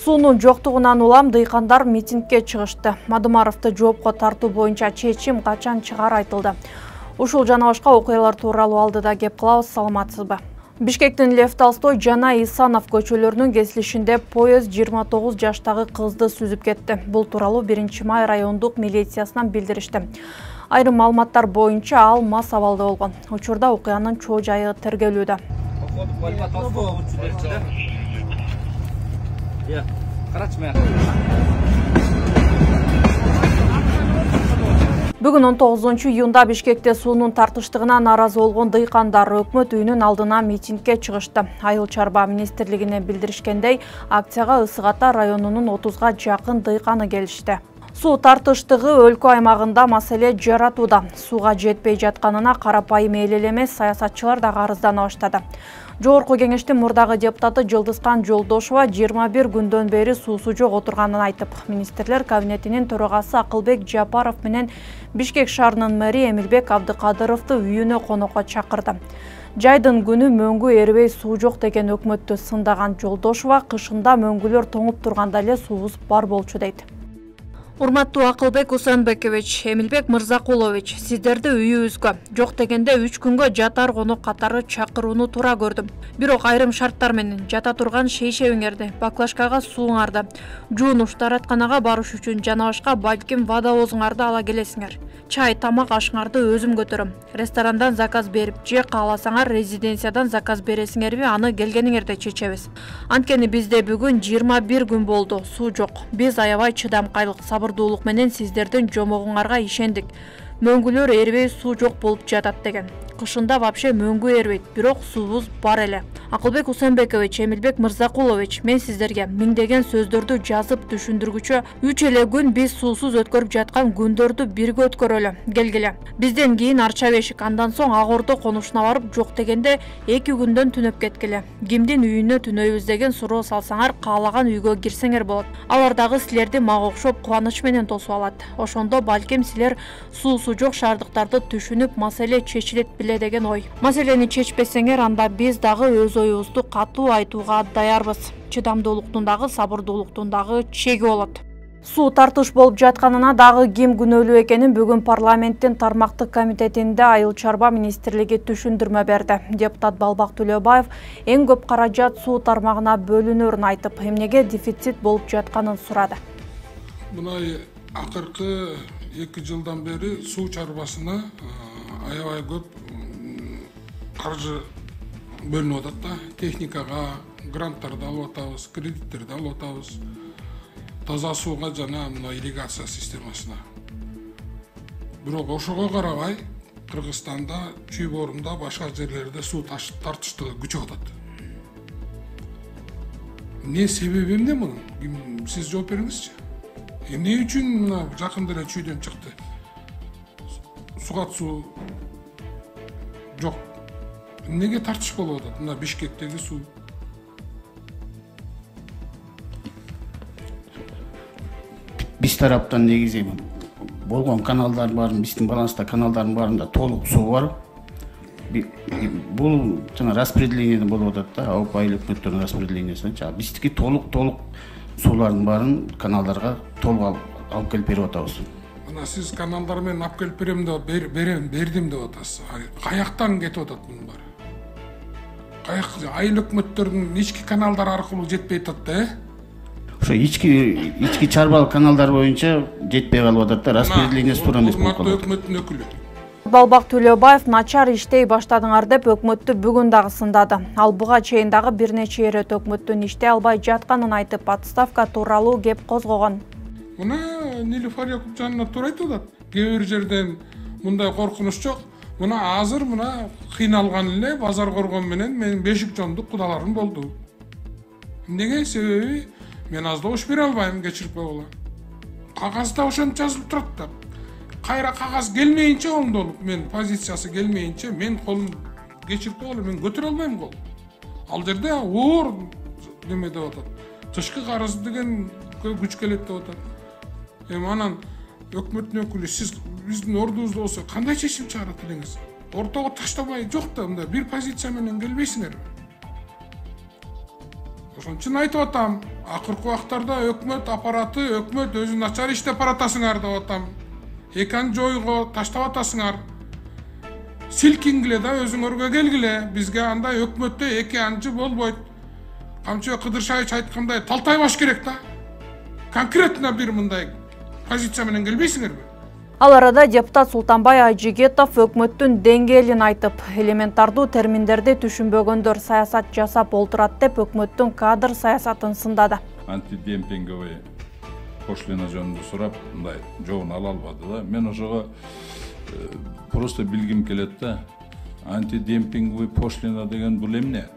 Суунун жоктугунан улам дыйкандар митингге чыгышты. Мадымаровду жоопко тартуу боюнча чечим качан чыгары айтылды. Ушул жана башка окуялар тууралуу алдыда кеп кылабыз, саламатсызбы? Бишкектин Лев Толстой жана Исанов көчөлөрүнүн кесилишинде поезд 29 жаштагы кызды сүзүп кетти. Бул тууралуу 1-май райондук милициясынан билдиришти. Айрым маалыматтар боюнча ал мас абалда болгон. Учурда окуянын чоо жайы тергелүүдө. Бүгүн 19-июнда Бишкекте суунун тартыштыгына нааразы болгон дыйкандар өкмөт үйүнүн алдына митингге чыгышты. Айыл чарба министрлигине билдиришкендей, акцияга Ысык Ата районунун 30га жакын дыйканы келишти. Суу тартыштыгы өлкө аймагында маселе жаратууда. Сууга жетпей жатканына карапайым эл эле эмес, саясатчылар да арыздана баштады. Жогорку кеңештин мурдагы депутаты Жылдызкан Жолдошова 21 күндөн бери суусу жок отурганын айтып, министрлер кабинетинин төрагасы Акылбек Жапаров менен Бишкек шаарынын мэри Эмилбек Абдыкадыровду үйүнө конокко чакырды. Жайдын күнү мөңгү эрбей суу жок деген өкмөттү сындаган Жолдошова кышында мөңгүлөр тоңуп турганда эле суубуз бар болчу дейт. Урматтуу Акылбек Усенбекович, Эмилбек Мырзакулович, сиздерди үйүбүзгө жок дегенде 3 күнгө жатар конок катары чакырууну туура көрдүм. Бирок айрым шарттар менен жата турган шейшебиңерди, баклажкага сууңарды, жуунуш дааратканага барыш үчүн жана башка балким водовозуңарды ала келесиңер. Чай, тамак ашыңарды өзүм көтөрөм. Ресторандан заказ берип, же кааласаңар резиденциядан заказ бересиңерби, аны келгениңерде чечебиз. Анткени бизде бүгүн 21 күн болду, суу жок. Биз аябай чыдамкайлык, сабырдуулук менен сиздердин жомогуңарга ишендик. Мөңгүлөр эрбей суу жок болуп жатат деген. Кышында вообще мөңгү эрбейт, бирок суубуз бар эле. Акылбек Усенбекович, Эмилбек Мырзакулович, мен сиздерге миңдеген сөздөрдү жазып түшүндүргүчө 3 эле күн биз суусуз өткөрүп жаткан күндөрдү бирге өткөрөлү. Келгиле. Бизден кийин Арча Бешик, андан соң Ак Ордо конушуна барып, жок дегенде 2 күндөн түнөп кеткиле. Кимдин үйүнө түнөйбүз деген суроо салсаңар, каалаган үйгө кирсеңер болот. Алар дагы силерди мага окшоп кубаныч менен тосуп алат. Ошондо балким силер суусу жок шаардыктарды түшүнүп, маселе чечилет биле деген ой. Маселени чечпесеңер, анда биз дагы өз оюбузду катуу айтууга даярбыз. Чыдамдуулуктун дагы, сабырдуулуктун дагы чеги болот. Суу тартыш болуп жатканына дагы ким күнөөлүү экенин бүгүн парламенттин тармактык комитетинде Айыл чарба министрлиги түшүндүрмө берди. Депутат Балбак Төлөбаев эң көп каражат суу тармагына бөлүнөрүн айтып, эмнеге дефицит болуп жатканын сурады. Мына акыркы 2 жылдан бери суу чарбасына аябай көп каржы бөлүнүп атат да. Техникага гранттарды алып атабыз, кредиттерди алып атабыз. Таза сууга жана мына ирригация системасына. Бирок ошого карабай Кыргызстанда, Чүй-Борунда, башка жерлерде суу тартыштыгы күчөп атат. Не себеби эмне мунун? Сиз жооп бериңизчи. Эмне үчүн мына жакында эле Чүйдөн чыкты? Сугат суу жок. Эмнеге тартыш болуп атат? Мына Бишкектеги суу. Биз тараптан негизи болгон каналдар бар, биздин баланста каналдардын баарында толук суу бар. Бул жана распределение болуп атат да, Ауп айыл өкмөттөрүнүн распределениясы. Биздики толук суулардын баарын каналдарга толук алып келип берип атабыз. Мына сиз каналдар менен алып келип берем деп бердим деп атасыз. Каяктан кетип атат мунун баары? Айыл өкмөттөрүнүн ички каналдар аркылуу жетпей атат да, Ошо ички чарбалык каналдар боюнча жетпей калып атат да, распределение туура эмес болуп калат. Өкмөттүн өкүлү. Балбак Төлөбаев начар иштей баштадыңар деп өкмөттү бүгүн дагы сындады. Ал буга чейин дагы бир нече ирет өкмөттүн иштей албай жатканын айтып, отставка тууралуу кеп козгогон. Мына Нилуфар Якупжанова туура айтып атат. Кээ бир жерден мындай коркунуч жок. Мына азыр мына кыйналган эле базар коргон менен менин бешик жондук кудаларым болду. Эмнеге? Себеби мен аз добуш бере албайм, кечирип койгула. Кагазда ошентип жазылып турат да. Кайра кагаз келмейинче оңдолуп, мен позициясы келмейинче мен колум кечирип койгула, мен көтөрө албайм кол. Ал жерде оор неме деп атат. Тышкы карыз деген күч келет деп атат. Анан өкмөттүн өкүлү, сиз биздин ордубузда болсо кандай чечим чыгарат элеңиз? Ортого таштабай жок да, мындай бир позиция менен келбейсиңерби? Ошон үчүн айтып атам. Акыркы убактарда өкмөт аппараты, өкмөт өзү начар иштеп баратасыңар деп атам. Экан жойго таштап атасыңар. Силкингиле да өзүңөргө келгиле. Бизге андай өкмөттө эки анчы болбойт. Камчы Кыдыршаевич айткандай талтай баш керек да. Конкретно бир мындай позиция менен келбейсиңерби? Ал арада депутат Султанбай Айжигетов өкмөттүн деңгээлин айтып, элементардуу терминдерди түшүнбөгөндөр саясат жасап олтурат деп өкмөттүн кадр саясатын сындады. Антидемпинговый пошлина жөнүндө сурап, мындай жообун ала албады да. Мен ошого просто билгим келет да. Антидемпинговый пошлина деген бул эмне?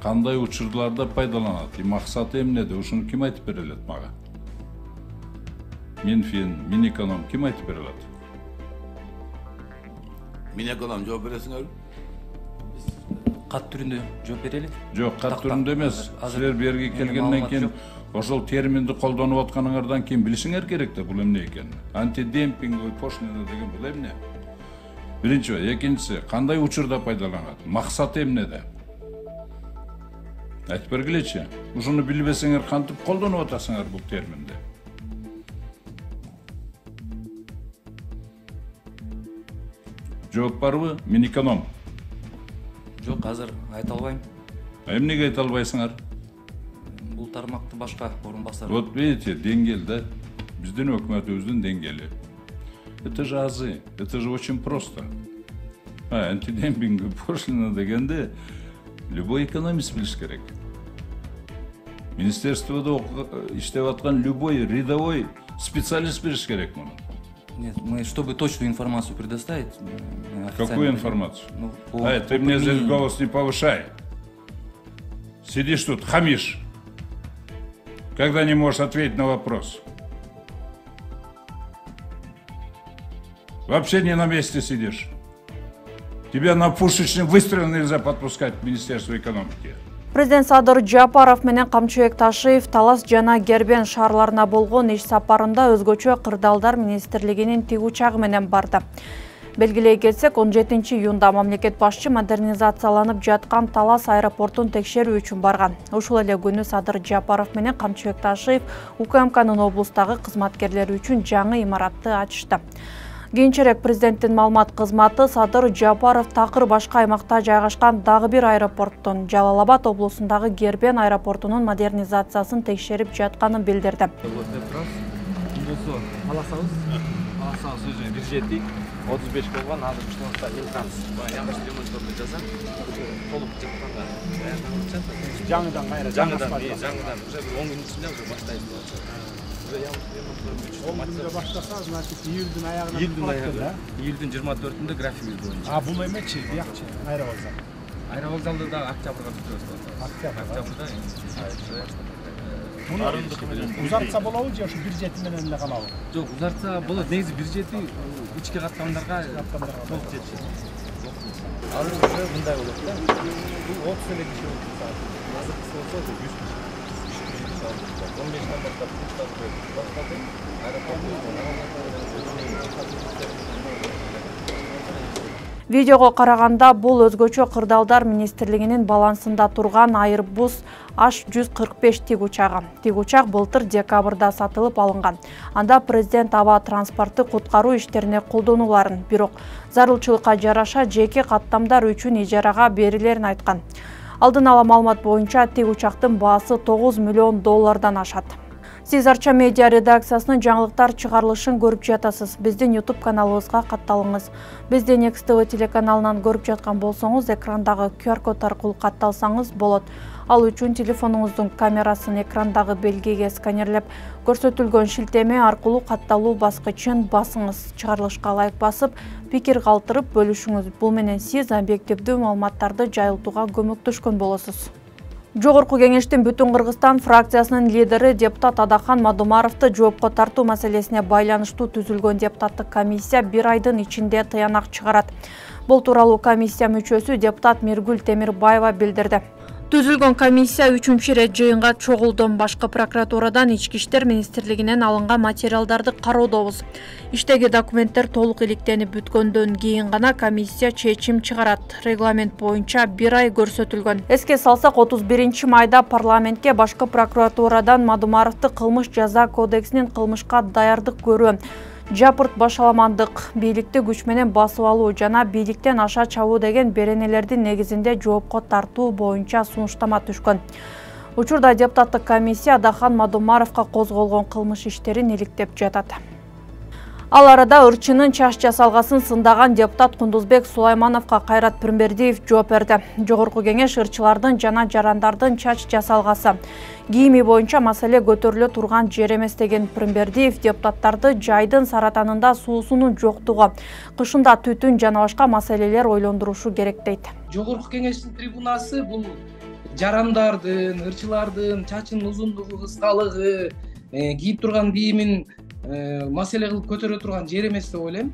Кандай учурларда пайдаланат? Максаты эмнеде? Ушуну ким айтып бере алат мага? Минфин, Минэконом ким айтып бере алат? Минэконом жооп бересиңерби? Кат түрүндө жооп бере элек? Жок, кат түрүндө эмес. Силер берги келгенден кийин ошол терминди колдонуп атканыңардан кийин билишиңер керек да бул эмне экенин. Антидемпинговый пошлина деген бул эмне? Биринчи, экинчиси, кандай учурда пайдаланат? Максаты эмнеде? Айтып бергилечи. Ушуну билбесеңер кантип колдонуп атасыңар бул терминди? Жооп барбы? Минэконом. Жок, азыр айта албайм. Эмнеге айта албайсыңар? Бул тармакты башка орун басар. Вот видите, деңгел да. Биздин өкмөтүбүздүн деңгели. Это же азы. Это же очень просто. Антидемпинговый пошлина дегенде любой экономист билиш керек. Министерстводо иштеп аткан любой рядовой специалист билиш керек муну. Нет, мы, чтобы точную информацию предоставить... Какую информацию? Ты мне здесь голос не повышай. Сидишь тут, хамишь. Когда не можешь ответить на вопрос. Вообще не на месте сидишь. Тебя на пушечный выстрел нельзя подпускать в Министерство экономики. Президент Садыр Жапаров менен Камчыбек Ташиев Талас жана Гербен шаарларына болгон иш сапарында өзгөчө кырдаалдар министрлигинин тиг учагы менен барды. Белгилей кетсек, 17 июнда мамлекет башчы модернизацияланып жаткан Талас аэропортун текшерүү үчүн барган. Ушул эле күнү Садыр Жапаров менен Камчыбек Ташиев УКМКнын облустагы кызматкерлери үчүн жаңы имаратты ачышты. Кийинчерээк президенттин маалымат кызматы Садыр Жапаров такыр башка аймакта жайгашкан дагы бир аэропорттун Жалал-Абад облусундагы Гербен аэропортунун модернизациясын текшерип жатканын билдирди. Аласабыз өзү бюджети 35 болгон, азыр ушунда элканс. Жаңы ремонтторду жасап, толук жакканда даярданып жатат. Жаңыдан кайра жаңыдан уже 10 күн ичинде уже баштайбыз. Баштаса, значит, июлдун аягына. Июлдун 24-ндө графигибиз боюнча. А бул эмечи, биякчы, аэровокзал. Аэровокзалды да октябрга бүтөбүз. Октябрга. Узартса болобу же ушу бюджети менен эле калабы? Жок, узартса болот. Негизи бюджети ички каттамдарга толук жетишет. Азыр уже мындай болот да. Бул 30 эле киши болот. Азыркысы болсо 100 киши. 15 баштап баштады. Видеого караганда бул өзгөчө кырдаалдар министрлигинин балансында турган Airbus H145 тиг учагы. Тиг учак былтыр декабрда сатылып алынган. Анда президент аба транспорты куткаруу иштерине колдонуларын, бирок зарылчылыкка жараша жеке каттамдар үчүн ижарага берилерин айткан. Алдын ала маалымат боюнча тиг учактын баасы $9 миллион ашат. Сиз Арча медиа редакциясынын жаңылыктар чыгарылышын көрүп жатасыз. Биздин YouTube каналыбызга катталыңыз. Бизди Next TV телеканалынан көрүп жаткан болсоңуз, экрандагы QR код аркылуу катталсаңыз болот. Ал үчүн телефонуңуздун камерасын экрандагы белгиге сканерлеп, көрсөтүлгөн шилтеме аркылуу катталуу баскычын басыңыз. Чыгарылышка лайк басып, пикир калтырып бөлүшүңүз. Бул менен сиз объективдүү маалыматтарды жайылтууга көмөктөшкөн болосуз. Жогорку кеңештин Бүтүн Кыргызстан фракциясынын лидери депутат Адахан Мадумаровду жоопко тартуу маселесине байланыштуу түзүлгөн депутаттык комиссия 1 айдын ичинде тыянак чыгарат. Бул тууралуу комиссия мүчөсү депутат Миргүл Темирбаева билдирди. Түзүлгөн комиссия 3-чү ирет жыйынга чогулду. Башкы прокуратурадан Ички иштер министрлигинен алынган материалдарды кароодобуз. Иштеги документтер толук иликтенип бүткөндөн кийин гана комиссия чечим чыгарат. Регламент боюнча 1 ай көрсөтүлгөн. Эске салсак, 31-майда парламентке башкы прокуратурадан Мадумаровду кылмыш жаза кодексинин кылмышка даярдык көрүү, жапырт башаламандык, бийликти күч менен басып алуу жана бийликтен аша чабуу деген беренелердин негизинде жоопко тартуу боюнча сунуштама түшкөн. Учурда депутаттык комиссия Дахан Мадумаровго козголгон кылмыш иштерин иликтеп жатат. Ал арада ырчынын чач жасалгасын сындаган депутат Кундузбек Сулаймановго Кайрат Пирмбердиев жооп берди. Жогорку кеңеш ырчылардын жана жарандардын чач жасалгасы, кийими боюнча маселе көтөрүлө турган жер эмес деген Пирмбердиев депутаттарды жайдын саратанында суусунун жоктугу, кышында түтүн жана башка маселелер ойлондурушу керек дейт. Жогорку кеңештин трибунасы бул жарандардын, ырчылардын чачынын узундугу, кыскалыгы, кийип турган кийимин маселе кылып көтөрө турган жер эмес деп ойлойм.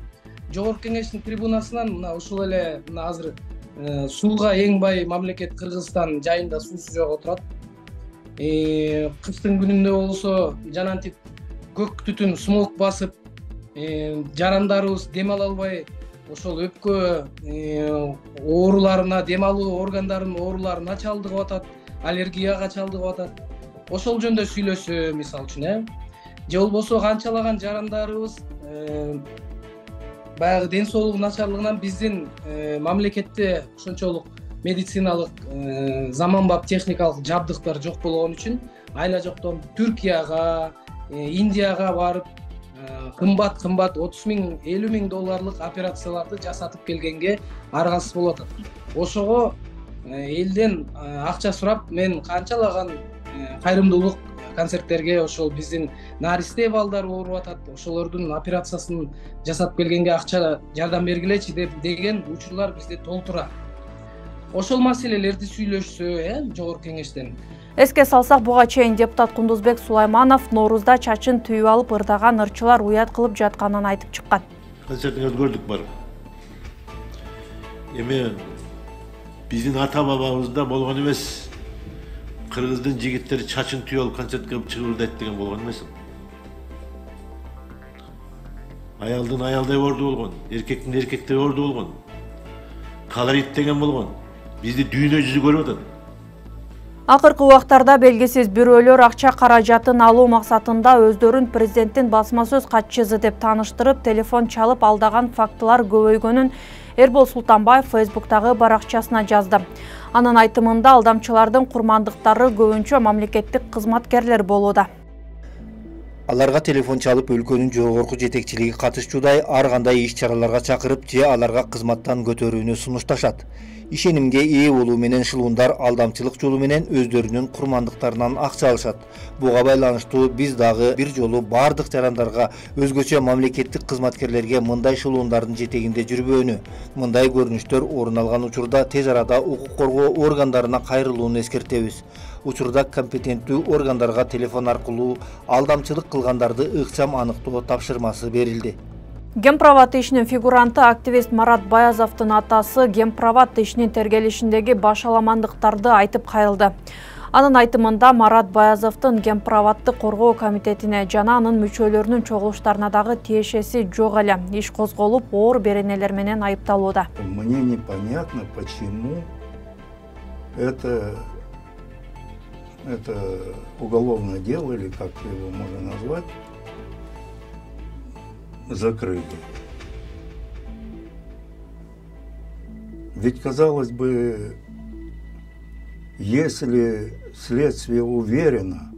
Жогорку кеңештин трибунасынан мына ушул эле азыр сууга эң бай мамлекет Кыргызстан жайында суусу жок отурат. Кыштын күнүндө болсо жанантип көк түтүн смог басып, жарандарыбыз дем ала албай, ошол өпкө ооруларына, дем алуу органдарынын ооруларына чалдыгып атат, аллергияга чалдыгып атат. Ошол жөнүндө сүйлөшсө, мисалы үчүн, же болбосо канчалаган жарандарыбыз баягы ден соолугу начарлыгынан биздин мамлекетте ошончолук медициналык заманбап техникалык жабдыктар жок болгон үчүн айла жоктон Түркияга, Индияга барып кымбат 30 миң, 50 миң долларлык операцияларды жасатып келгенге аргасыз болуп атат. Ошого элден акча сурап, мен канчалаган кайрымдуулук концерттерге ошол биздин наристе балдар ооруп атат, ошолордун операциясын жасап келгенге акча жардам бергилечи деген учурлар бизде толтура. Ошол маселелерди сүйлөшсө, жогорку кеңештен. Эске салсак, буга чейин депутат Кундузбек Сулайманов Ноорузда чачын түйүп алып ырдаган ырчылар уят кылып жатканын айтып чыккан. Концертиңерди көрдүк бар. Эми биздин ата бабабызда болгон эмес. Кыргыздын жигиттери чачын түйүп алып концертке чыгырдайт деген болгон эмес. Аялдын аялдай орду болгон, эркектин эркектей орду болгон. Колорит деген болгон. Бизди дүйнө жүзү көрүп атат. Акыркы убактарда белгисиз бирөөлөр акча каражатын алуу максатында өздөрүн президенттин басма сөз катчысы деп тааныштырып, телефон чалып алдаган фактылар көбөйгөнүн Эрбол Султанбаев Фейсбуктагы баракчасына жазды. Анын айтымында алдамчылардын курмандыктары көбүнчө мамлекеттик кызматкерлер болууда. Аларга телефон чалып өлкөнүн жогорку жетекчилиги катышчудай ар кандай иш-чараларга чакырып, же аларга кызматтан көтөрүүнү сунушташат. Ишенимге ээ болуу менен шылуундар алдамчылык жолу менен өздөрүнүн курмандыктарынан акча алышат. Буга байланыштуу биз дагы бир жолу бардык жарандарга, өзгөчө мамлекеттик кызматкерлерге мындай шылуундардын жетегинде жүрбөөнү, мындай көрүнүштөр орун алган учурда тез арада укук коргоо органдарына кайрылууну эскертебиз. Учурда компетенттүү органдарга телефон аркылуу алдамчылык кылгандарды ыкчам аныктоо тапшырмасы берилди. Гемпроват ишинин фигуранты активист Марат Баязовдун атасы Гемпроват ишинин тергелишиндеги башаламандыктарды айтып кайрылды. Анын айтымында Марат Баязовдун Гемпроватты коргоо комитетине жана анын мүчөлөрүнүн чогулуштарына дагы тиешеси жок эле. Иш козголуп, оор беренелер менен айыпталууда. Мне непонятно, почему это уголовное дело, или как его можно назвать, закрыли. Ведь, казалось бы, если следствие уверено,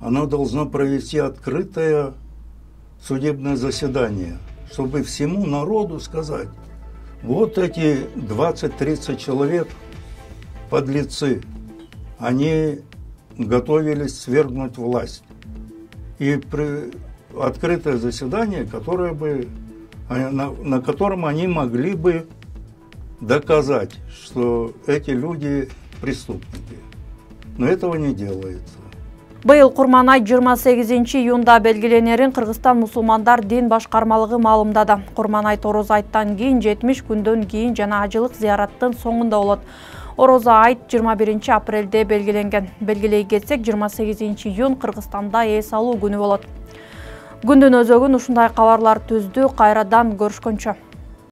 оно должно провести открытое судебное заседание, чтобы всему народу сказать: вот эти 20-30 человек, подлецы, они готовились свергнуть власть. И открытое заседание, которое бы, на котором они могли бы доказать, что эти люди преступники. Но этого не делается. Быйыл Курман ай 28-июнда белгиленерин Кыргызстан мусулмандар дин башкармалыгы маалымдады. Курман ай Торозайттан кийин 70 күндөн кийин жана ажылык зыяраттын соңунда болот. Орозо айт 21 апрелде белгиленген. Белгилей кетсек, 28 июнь Кыргызстанда эс алуу күнү болот. Күндүн өзөгүн ушундай кабарлар түздү. Кайрадан көрүшкөнчө.